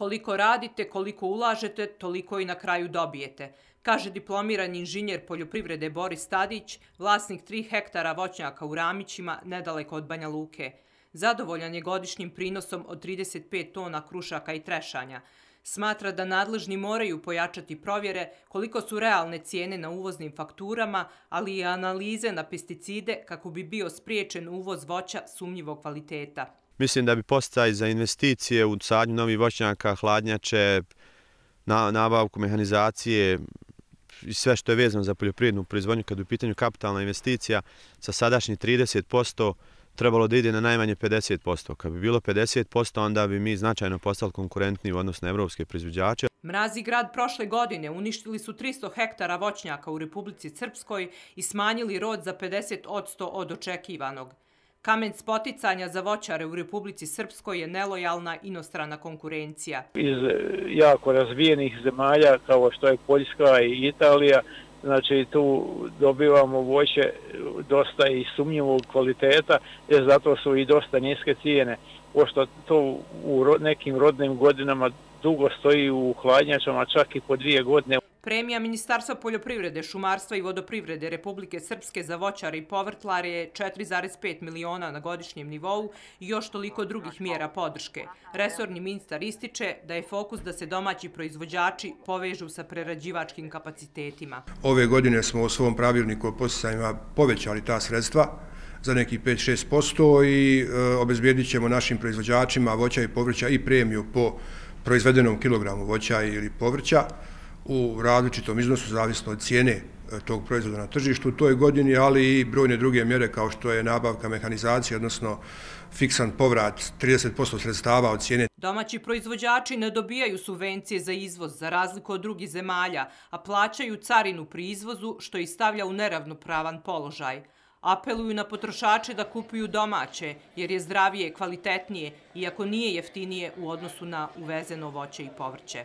Koliko radite, koliko ulažete, toliko i na kraju dobijete, kaže diplomirani inženjer poljoprivrede Boris Tadić, vlasnik 3 hektara voćnjaka u Ramićima, nedaleko od Banja Luke. Zadovoljan je godišnjim prinosom od 35 tona krušaka i trešanja. Smatra da nadležni moraju pojačati provjere koliko su realne cijene na uvoznim fakturama, ali i analize na pesticide kako bi bio spriječen uvoz voća sumnjivog kvaliteta. Mislim da bi podsticaj za investicije u sadnju novih voćnjaka, hladnjače, nabavku mehanizacije i sve što je vezano za poljoprivrednu proizvodnju kad je u pitanju kapitalna investicija sa sadašnjih 30% trebalo da ide na najmanje 50%. Kad bi bilo 50%, onda bi mi značajno postali konkurentni u odnosu na evropske proizvođače. Mrazi grad prošle godine uništili su 300 hektara voćnjaka u Republici Srpskoj i smanjili rod za 50% od očekivanog. Kamen spoticanja za voćare u Republici Srpskoj je nelojalna inostrana konkurencija. Iz jako razvijenih zemalja kao što je Poljska i Italija, znači tu dobivamo voće dosta i sumnjivog kvaliteta, jer zato su i dosta niske cijene, pošto to u nekim rodnim godinama dugo stoji u hladnjačama, čak i po 2 godine. Premija Ministarstva poljoprivrede, šumarstva i vodoprivrede Republike Srpske za voćare i povrtlare je 4,5 miliona na godišnjem nivou i još toliko drugih mjera podrške. Resorni ministar ističe da je fokus da se domaći proizvođači povežu sa prerađivačkim kapacitetima. Ove godine smo u svom pravilniku o podsticajima povećali ta sredstva za nekih 5-6% i obezbijedit ćemo našim proizvođačima voća i povrća i premiju po proizvedenom kilogramu voća ili povrća u različitom iznosu, zavisno od cijene tog proizvoda na tržištu u toj godini, ali i brojne druge mjere kao što je nabavka mehanizacije, odnosno fiksan povrat 30% sredstava od cijene. Domaći proizvođači ne dobijaju subvencije za izvoz za razliku od drugih zemalja, a plaćaju carinu pri izvozu što ih stavlja u neravnopravan položaj. Apeluju na potrošače da kupuju domaće, jer je zdravije, kvalitetnije, iako nije jeftinije u odnosu na uvezeno voće i povrće.